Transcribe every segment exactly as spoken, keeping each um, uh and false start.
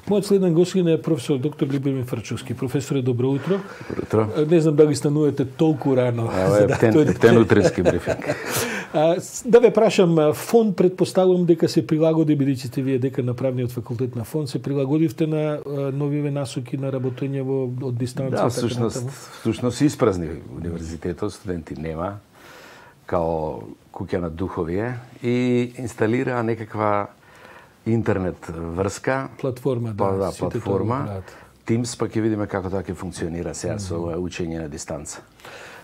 Мојот следен гостин е професор доктор Любомир Фрчовски. Професоре, добро утро. Добро утро. Не знам дали станувате толку рано. Ова е птен, птен утрески брифинг. Да ве прашам, фонд предпоставувам дека се прилагоди, бидејќи сте вие дека на правниот факултет на фонд, се прилагодивте на новиве насоки на работење во од дистанца. Да, всушност, всушност испразни универзитетот, студенти нема, као куќа на духовие, и инсталираа некаква интернет врска, платформа, да, па, да платформа. Teams, па ќе видиме како тоа ќе функционира сега со ова учење на дистанца.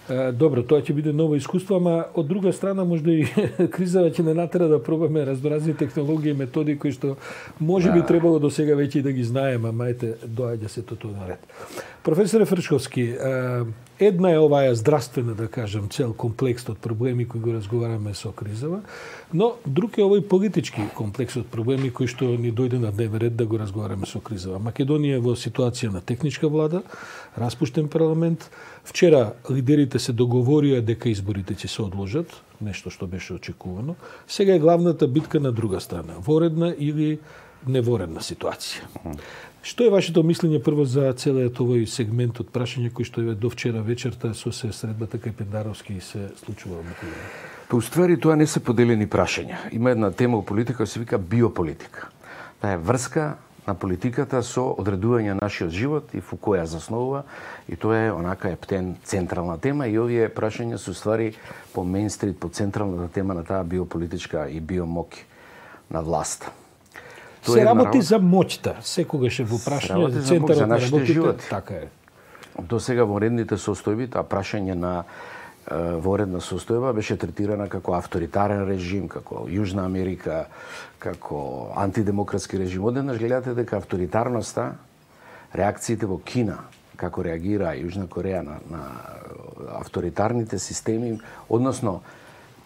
Добро, тоа ќе биде ново искуство, ама од друга страна можда и кризава ќе не натера да пробаме разноразни технологии и методи кои што може би требало до сега веќе и да ги знаеме, ама ете доаѓа се тоа наред. Професоре Фрчовски, една е оваа здравствена, да кажам, цел комплекс од проблеми кои го разговараме со кризава, но друг е овој политички комплекс од проблеми кои што ни дојде на дневен ред да го разговараме со кризава. Македонија е во ситуација на техничка влада, распуштен парламент. Вчера лидерите се договорија дека изборите ќе се одложат, нешто што беше очекувано. Сега е главната битка на друга страна, воредна или неворедна ситуација. Што е вашето мислење прво за целиот овој сегмент од прашања кои што е до вчера вечерта со се средбата кај Пендаровски се случува во Македонија? Па уствари тоа не се поделени прашања. Има една тема во политика која се вика биополитика. Таа е врска на политиката со одредување на нашиот живот и Фукуја заснова, и тоа е онака е птен централна тема, и овие прашања се уствари по мејнстрит, по централната тема на таа биополитичка и биомоќ на власта. Тоа се работи народ... за моќта, секогаш е во прашање за центарот за на нашите животи. Така е. До сега во редните состојби, таа прашање на воредна состојба беше третирана како авторитарен режим, како Јужна Америка, како антидемократски режим. Одеднаш гледате дека авторитарноста, реакциите во Кина, како реагира Јужна Кореја на, на авторитарните системи, односно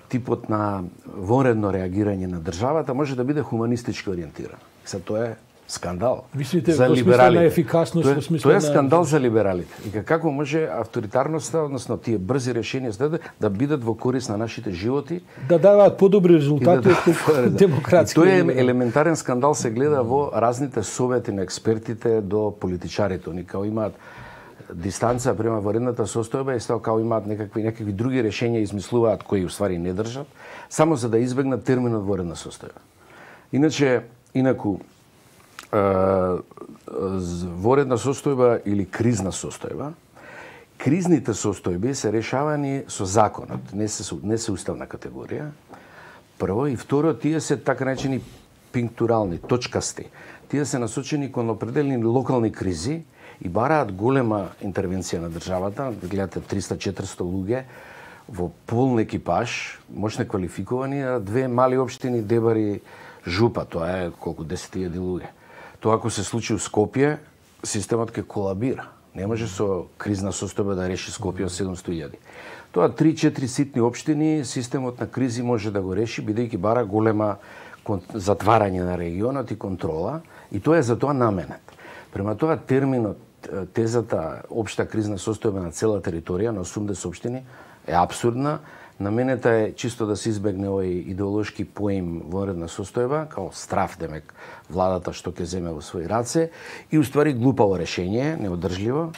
типот на воредно реагирање на државата може да биде хуманистички ориентиран. Се тоа е скандал. Мислите, за во смисла на ефикасност, тоа, во смисла тоа е на... скандал за либералите. И како може авторитарноста, односно тие брзи решенија да, да бидат во корист на нашите животи, да даваат подобри резултати да, од демократски. Тоа е елементарен скандал, се гледа во разните совети на експертите до политичарите. Они као имаат дистанца према воредната состојба, и стао као имаат некакви некакви други решенија измислуваат кои уствари не држат, само за да избегнат терминот воредна состојба. Иначе, инаку воредна состојба или кризна состојба, кризните состојби се решавани со законот, не се не се уставна категорија. Прво, и второ, тие се така наречени пинктурални, точкасти. Тие се насочени кон определени локални кризи и бараат голема интервенција на државата. Гледате триста-четиристо луѓе во полн екипаж, мощно квалификовани, а две мали општини, Дебари, Жупа, тоа е колку десет илјади луѓе. Тоа ако се случи у Скопје, системот ќе колабира. Не може со кризна состојба да реши Скопје од седумсто илјади. Тоа три-четири ситни општини, системот на кризи може да го реши, бидејќи бара голема затварање на регионот и контрола, и тоа е за тоа наменет. Према тоа терминот, тезата општа кризна состојба на цела територија на осумдесет општини е абсурдна. Наменета е чисто да се избегне овој идеолошки поим воредна состојба, као страф, демек, владата што ќе земе во своји раце, и уствари глупаво решение, неодржливо,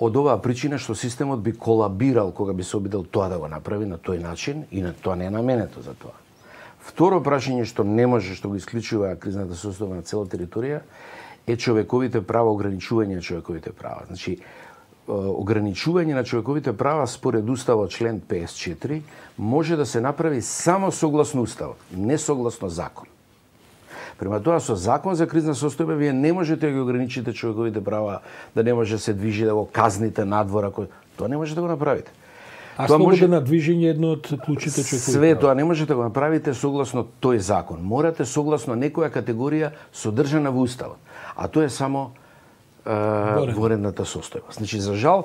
од оваа причина што системот би колабирал кога би се обидел тоа да го направи на тој начин, и на тоа не е наменето за тоа. Второ прашање што не може, што го исклучува кризната состојба на цела територија, е човековите права, ограничување на човековите права. Значи, ограничување на човековите права според Уставот член петдесет и четири може да се направи само согласно Уставот, не согласно закон. Према тоа, со закон за кризна состојба вие не можете да ги ограничите човековите права, да не може да се движи, да го казните надвора, кој... тоа не може да го направите. А слободно движење едно од клучите човекови права. Све тоа не можете да го направите согласно тој закон. Морате согласно некоја категорија содржана во Уставот. А тоа е само воредната состојба. Значи, за жал,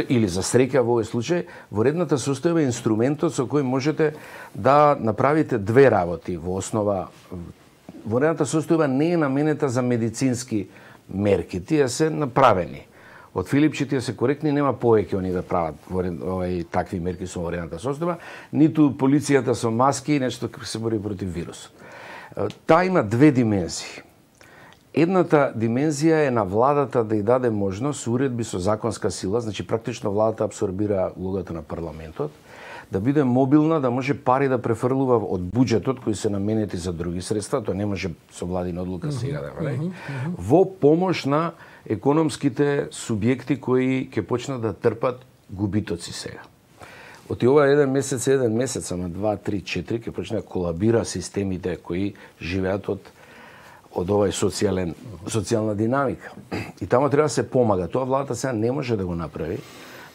или за среќа во овој случај, воредната состојба е инструментот со кој можете да направите две работи во основа. Воредната состојба не е наменета за медицински мерки, тие се направени. Од Филипчи тие се коректни, нема повеќе они да прават овај такви мерки со воредната состојба, ниту полицијата со маски и нешто се бори против вирусот. Таа има две димензии. Едната димензија е на владата да ја даде можност уредби со законска сила, значи практично владата абсорбира улогата на парламентот, да биде мобилна, да може пари да префрлува од буџетот кои се наменети за други средства, тоа не може со владина одлука сега да прави, mm -hmm. во помош на економските субјекти кои ќе почнат да трпат губитоци сега. Од ова еден месец, еден месец, ама два, три, четири, ќе почне да колабира системите кои живеат од од овај социјален социјална динамика. И тamo треба да се помага. Тоа владата сега не може да го направи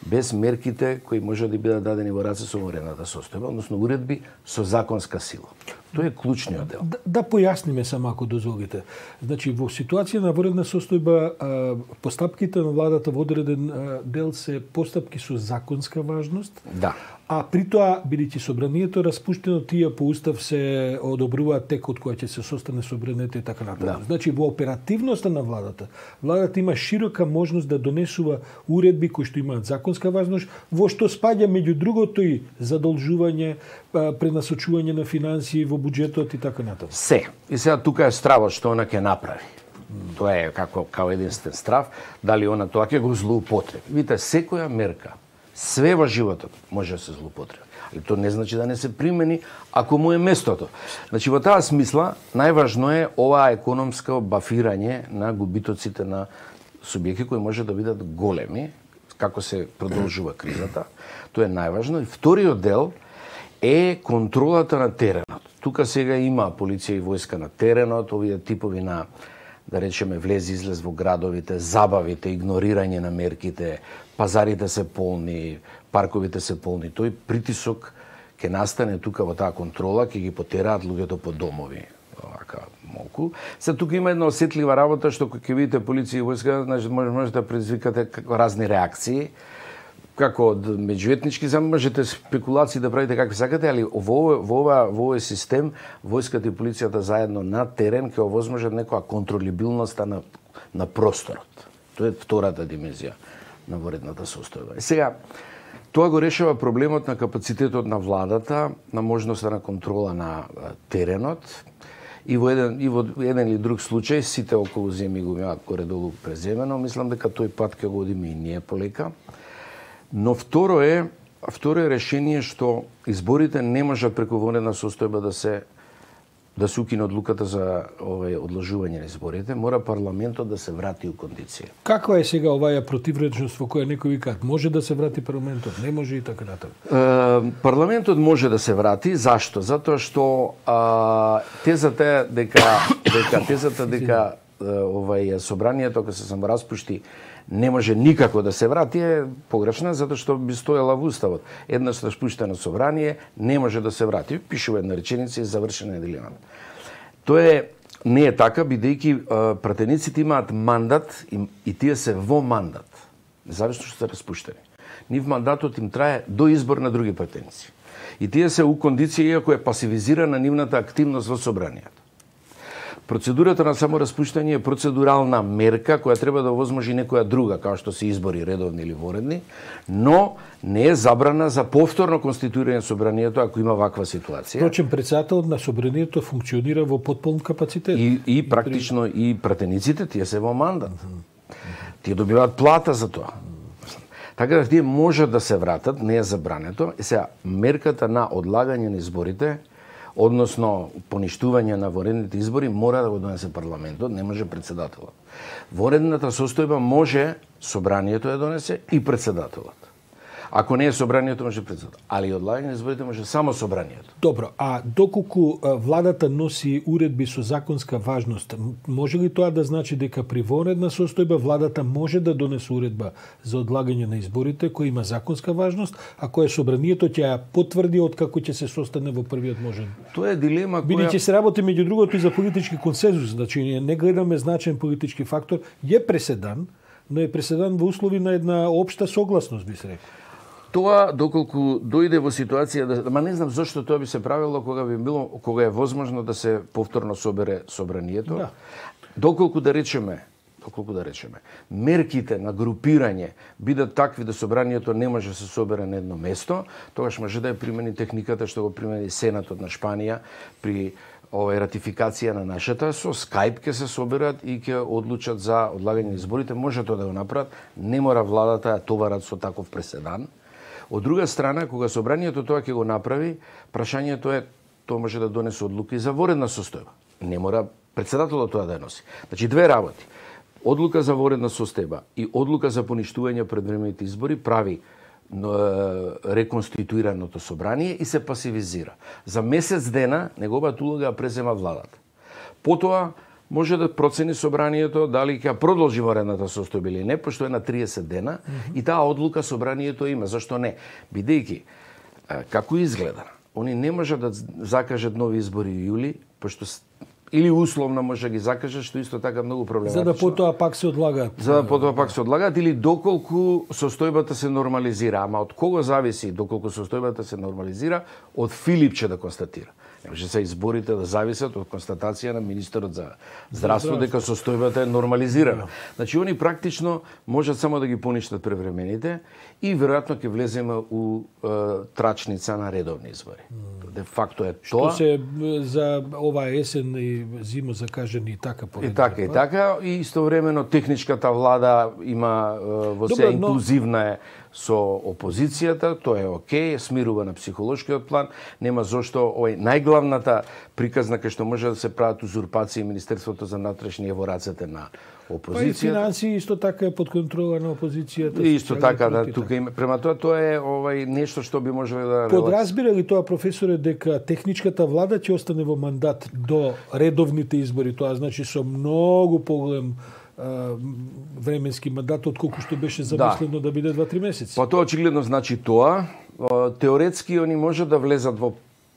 без мерките кои може да бидат дадени во раце со воредната состојба, односно уредби со законска сила. Тоа е клучниот дел. Да, да појасниме само ако дозволите. Значи во ситуација на воредна состојба постапките на владата во одреден дел се постапки со законска важност. Да. А при тоа, бидејќи собранието распуштено, тие по устав се одобруваат текот кој ќе се состане собранието и така натаму. Да. Значи во оперативноста на владата, владата има широка можност да донесува уредби кои што имаат законска важност, во што спаѓа меѓу другото и задолжување, пренасочување на финансии во буџетот и така натаму. Се. И сега тука е стравот што она ќе направи. Mm. Тоа е како као единствен страв, дали она тоа ќе го злоупотреби. Видите, секоја мерка, све во животот може да се злоупотреби. Али тоа не значи да не се примени ако му е местото. Значи во таа смисла најважно е ова економско бафирање на губитоците на субјекти кои може да бидат големи како се продолжува кризата. Тоа е најважно. И вториот дел е контролата на теренот. Тука сега има полиција и војска на теренот, овие типови на, да речеме, влез-излез во градовите, забавите, игнорирање на мерките, пазарите се полни, парковите се полни. Тој притисок ќе настане тука во таа контрола, ќе ги потераат луѓето по домови. Овака малку. Се тука има една осетлива работа што кога ќе видите полиција и војска, значи може да предизвикате разни реакции. Како од меѓуетнички, можете спекулации да правите какви сакате, али во во ова во овој систем војската и полицијата заедно на терен ќе овозможат некоја контролибилност на на просторот. Тоа е втората димензија на воредната состојба. И сега тоа го решава проблемот на капацитетот на владата, на можноста на контрола на теренот. И во еден и во еден или друг случај сите околу земји го имаат горе-долу преземено, мислам дека тој пат ќе го одиме и ние полека. Но второ е, второ е решение што изборите не можат преку воредна состојба да се да се укине одлуката за овој одложување на изборите, мора парламентот да се врати у кондиција. Каква е сега оваа противречност во која некои викаат може да се врати парламентот, не може и така натаму? Е, парламентот може да се врати, зашто? Затоа што а, тезата е дека дека тезата дека овај собранието кога се самораспушти не може никако да се врати е погрешна, затоа што би стоела во уставот. Еднаш распуштено собрание не може да се врати. Пишува една реченица и завршена е дилемата. Тоа е не е така, бидејќи пратениците имаат мандат и, и тие се во мандат, независно што се распуштени. Нив мандатот им трае до избор на други пратеници. И тие се у кондиција иако е пасивизирана нивната активност во собранието. Процедурата на самораспуштање е процедурална мерка која треба да овозможи некоја друга, како што се избори редовни или воредни, но не е забрана за повторно конституирање собранието ако има ваква ситуација. Впрочем, председателот на собранието функционира во потполн капацитет. И, и практично и пратениците тие се во мандат. Тие добиваат плата за тоа. Така да тие можат да се вратат, не е забрането. И сега мерката на одлагање на изборите, односно поништување на воредните избори, мора да го донесе парламентот, не може председателот. Воредната состојба може собранието да донесе и председателот. Ако не е собранието, може председател. Али одлагање на изборите може само собранието. Добро, а доколку владата носи уредби со законска важност, може ли тоа да значи дека при воредна состојба владата може да донесе уредба за одлагање на изборите која има законска важност, а која собранието ќе ја потврди откако ќе се состане во првиот можен? Тоа е дилема која... Бидејќи се работи меѓу другото и за политички консензус, значи не гледаме значаен политички фактор, е преседан, но е преседан во услови на една општа согласност, би се рекол. Тоа доколку дојде во ситуација да, ма не знам зошто тоа би се правило кога би било кога е возможно да се повторно собере собранието. Да. Доколку да речеме, доколку да речеме, мерките на групирање бидат такви да собранието не може да се собере на едно место, тогаш може да ја примени техниката што го примени Сенатот на Шпанија при овај ратификација на нашата, со Skype ќе се соберат и ќе одлучат за одлагање на изборите. Може тоа да го направат, не мора владата да товарат со таков преседан. Од друга страна, кога собранието тоа ќе го направи, прашањето е, тоа може да донесе одлуки за воредна состојба. Не мора председателот тоа да ја носи. Значи, две работи. Одлука за воредна состојба и одлука за поништување предвремените избори прави реконституираното собрание и се пасивизира. За месец дена неговата улога ја презема владата. Потоа може да процени собранието дали ќе продолжи воредната состојба или не, пошто е на триесет дена, mm-hmm. и таа одлука собранието има. Зашто не? Бидејќи како изгледа, они не може да закажат нови избори во јули, пошто или условно може да ги закажат, што исто така многу проблематично. За да потоа пак се одлагаат. За да потоа пак се одлагаат или доколку состојбата се нормализира. Ама од кого зависи доколку состојбата се нормализира? Од Филипче да констатира. Не може се изборите да зависат од констатација на министерот за здравство дека состојбата е нормализирана. Значи, они практично можат само да ги поништат превремените и веројатно ќе влеземе у е, трачница на редовни избори. Mm. Де факто е тоа. Што се за оваа есен и зима закажени и така поред. И така, и така. И истовремено техничката влада има е, во се инклузивна е со опозицијата, тоа е окей, смирува на психолошкиот план, нема зошто овој најглавната приказна кај што може да се прават узурпации Министерството за внатрешни е во рацете на опозицијата. Па и финансии исто така е под контрола на опозицијата. И исто така, да, тука има, према тоа тоа е овај нешто што би можело да подразбира ли тоа, професоре, дека техничката влада ќе остане во мандат до редовните избори, тоа значи со многу поголем временски мандат отколку што беше замислено да, да биде два-три месеци. Па тоа очигледно значи тоа. Теоретски они може да влезат во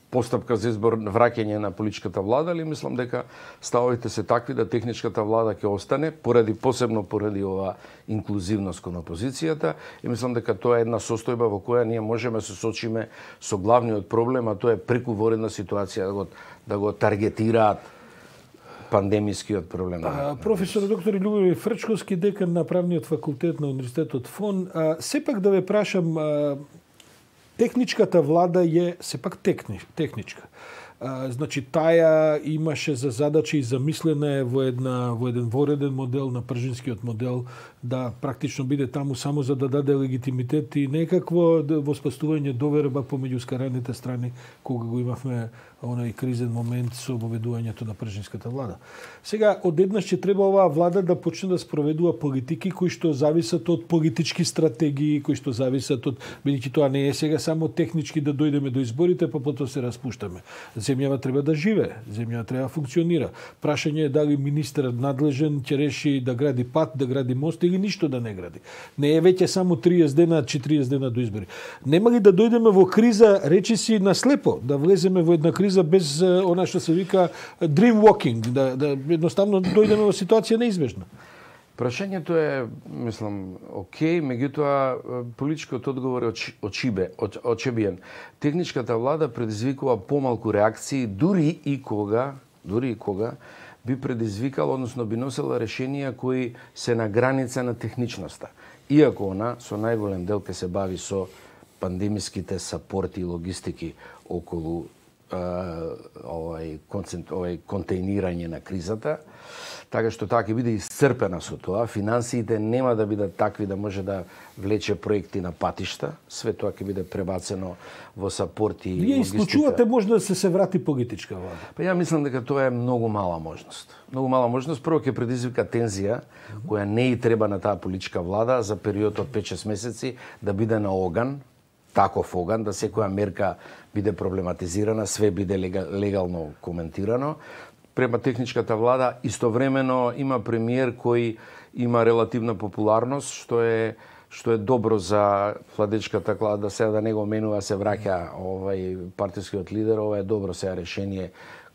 постапка за избор враќање на политичката влада, али мислам дека ставовите се такви да техничката влада ќе остане поради посебно поради ова инклузивност кон опозицијата и мислам дека тоа е една состојба во која ние можеме да се сочиме со главниот проблем, а тоа е преку воредна ситуација да го да го таргетираат пандемискиот проблем. А, професор доктор Љубомир Фрчковски, декан на правниот факултет на Универзитетот ФОН, а, сепак да ве прашам, а, техничката влада е сепак техни, техничка. А, значи таја имаше за задача и замислена е во една во еден вореден модел на пржинскиот модел да практично биде таму само за да даде легитимитет и некакво воспоставување доверба помеѓу скараните страни кога го имавме онај кризен момент со воведувањето на пржинската влада. Сега одеднаш ќе треба оваа влада да почне да спроведува политики кои што зависат од политички стратегии, кои што зависат од, бидејќи тоа не е сега само технички да дојдеме до изборите па потоа се распуштаме. Земјава треба да живее, земјава треба да функционира. Прашање е дали министерот надлежен ќе реши да гради пат, да гради мост или ништо да не гради. Не е веќе само триесет дена, четириесет дена до избори. Нема ли да дојдеме во криза, речиси на слепо, да влеземе во една криза без она што се вика dream walking, да, да едноставно дојдеме во ситуација неизбежна? Прашањето е, мислам, окей, меѓутоа политичкиот одговор е очибе, очебиен. Техничката влада предизвикува помалку реакции, дури и кога, дури и кога би предизвикала, односно би носела решенија кои се на граница на техничноста. Иако она со најголем дел ке се бави со пандемиските сапорти и логистики околу овај концент, овај контейнирање на кризата, така што таа ќе биде исцрпена со тоа. Финансиите нема да бидат такви да може да влече проекти на патишта. Све тоа ќе биде пребацено во сапорти и логистика. Вие исклучувате може да се се врати политичка влада? Па ја мислам дека тоа е многу мала можност. Многу мала можност. Прво ќе предизвика тензија, која не и треба на таа политичка влада за период од пет-шест месеци да биде на оган, таков оган, да секоја мерка биде проблематизирана, све биде легално коментирано. Према техничката влада истовремено има премиер кој има релативна популарност, што е што е добро за владечката клада, сега да не го менува, се враќа овај партискиот лидер, ова е добро сега решение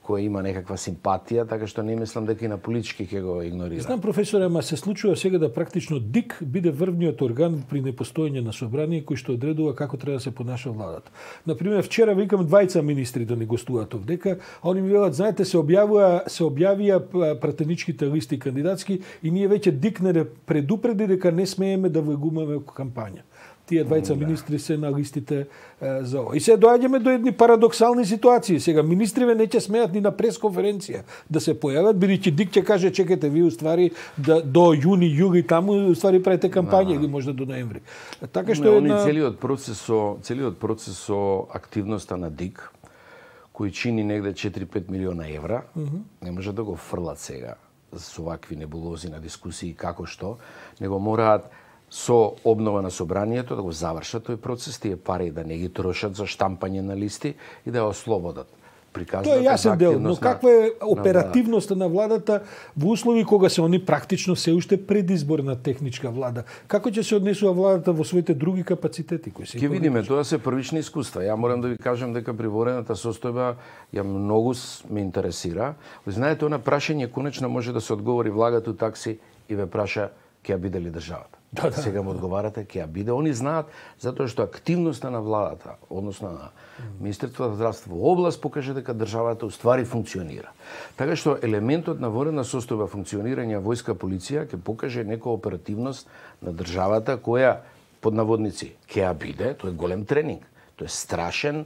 кој има некаква симпатија, така што не мислам дека и на политички ќе го игнорира. Знам, професоре, ама се случува сега да практично ДИК биде врвниот орган при непостоење на собрание кој што одредува како треба да се понаша владата. Например, вчера викам двајца министри да ни гостуваат овдека, а они ми велат, знаете, се објавува се објавија пратеничките листи кандидатски и ние веќе ДИК не предупреди дека не смееме да влегуваме во кампања. тие двајца министри се на листите е, за ова. И се доаѓаме до едни парадоксални ситуации. Сега министриве не ќе смеат ни на пресконференција да се појават, бидејќи Дик ќе каже чекате ви уствари да до јуни, јули таму уствари правите кампања или можда до ноември. Така што не, е една... на... целиот процес со целиот процес со активноста на Дик кој чини негде четири-пет милиона евра, mm -hmm. не може да го фрлат сега со вакви небулози на дискусии како што, него мораат со обнова на собранието да го завршат тој процес, тие пари да не ги трошат за штампање на листи и да ја ослободат. Тоа е јасен дел, но каква е оперативноста на владата во услови кога се они практично се уште предизборна техничка влада? Како ќе се однесува владата во своите други капацитети кои се? Ќе видиме, тоа се првични искуства. Ја морам да ви кажам дека приворената состојба ја многу ме интересира. Ви знаете, она прашање конечно може да се одговори влагата такси и ве праша ќе ја биде ли државата. Да, да. Сега му одговарате ќе ја биде. Они знаат затоа што активноста на владата, односно на Министерството за здравство во област покаже дека државата уствари функционира. Така што елементот на военна состојба функционирање војска полиција ќе покаже некоја оперативност на државата која под наводници ќе ја биде, тоа е голем тренинг. Тоа е страшен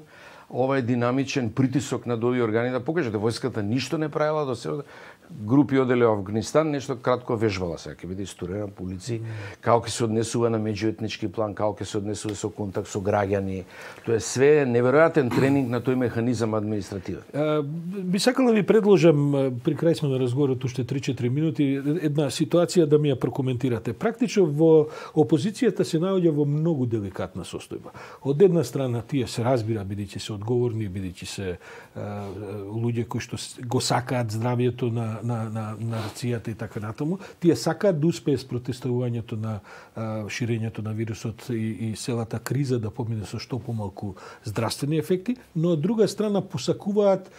ова е динамичен притисок на овие органи да покаже дека војската ништо не правила до сега. Групи одели во Афганистан, нешто кратко вежбала сега, ќе биде историја по улици, како ќе се однесува на меѓуетнички план, како ќе се однесува со контакт со граѓани. Тоа е све неверојатен тренинг на тој механизам административен. Би сакал да ви предложам, при крај сме на разговорот уште три-четири минути, една ситуација да ми ја прокоментирате. Практично во опозицијата се наоѓа во многу деликатна состојба. Од една страна тие се разбира, бидејќи се одговорни, бидејќи се а, луѓе кои што го сакаат здравието на на на на нацијата и така натаму, тие сакаат да успее с протестувањето на а, ширењето на вирусот и, и целата криза да помине со што помалку здравствени ефекти, но од друга страна посакуваат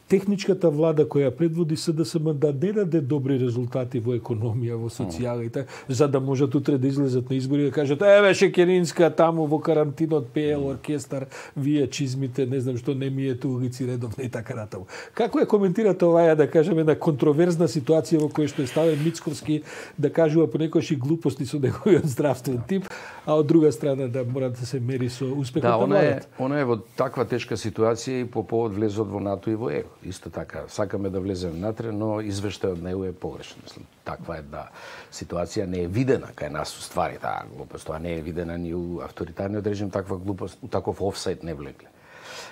техничката влада која предводи СДСМ да не даде добри резултати во економија, во социјала и така, за да можат утре да излезат на избори и да кажат еве Шекеринска таму во карантинот пеел оркестар, вие чизмите, не знам што не миете улици редовно и така натаму. Како ја коментирате оваа, да кажеме, една контроверзна ситуација во која што е ставен Мицковски да кажува понекогаш и глупости со неговиот здравствен тип, а од друга страна да мора да се мери со успехот да, на владата? Да, она е во таква тешка ситуација и по повод влезот во НАТО и во ЕУ. Исто така, сакаме да влеземе натре, но извештајот на ЕУ е погрешен. Мислам, таква една ситуација не е видена кај нас уствари таа глупост. Тоа не е видена ни у авторитарниот режим, таква глупост, у таков офсайд не влегле.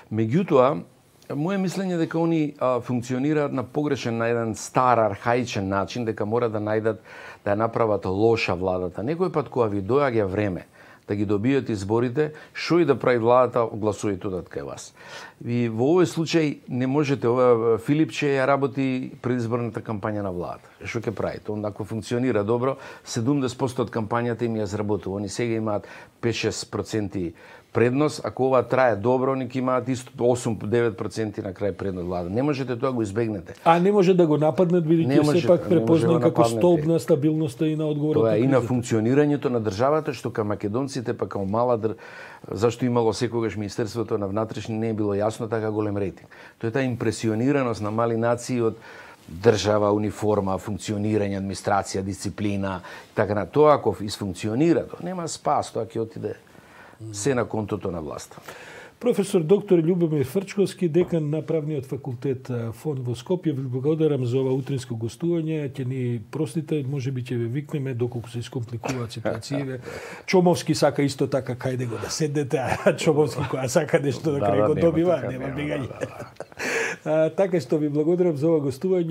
Меѓутоа, моје мислење дека они а, функционираат на погрешен, на еден стар, архаичен начин, дека мора да најдат да ја направат лоша владата. Некој пат кога ви доаѓа време да ги добијат изборите, што и да прави владата, гласувајте одат кај вас. И во овој случај не можете, ова Филипче ја работи предизборната кампања на владата. Што ќе правите? Он ако функционира добро, седумдесет проценти од кампањата им ја изработува. Они сега имаат пет-шест проценти предност, ако ова трае добро, они ќе имаат исто осум-девет проценти на крај предност влада. Не можете тоа го избегнете. А не може да го нападнат, бидејќи сепак препознан како столб на стабилноста и на одговорот. Тоа е и на функционирањето на државата, што кај македонците, па као мала др... зашто имало секогаш Министерството на внатрешни не е било јасно така голем рейтинг. Тоа е таа импресионираност на мали нации од држава, униформа, функционирање, администрација, дисциплина, така на тоа ако исфункционира, тоа нема спас, тоа ќе отиде се на контото на власта. Професор доктор Љубомир Фрчковски, декан на правниот факултет ФОН во Скопје, ви благодарам за ова утринско гостување. Ќе ни простите, можеби ќе ве викнеме доколку се искомпликуваат ситуациите. Чомовски сака исто така кајде го да седнете, а Чомовски која сака нешто да крај го добива, нема бегање. Така што ви благодарам за ова гостување.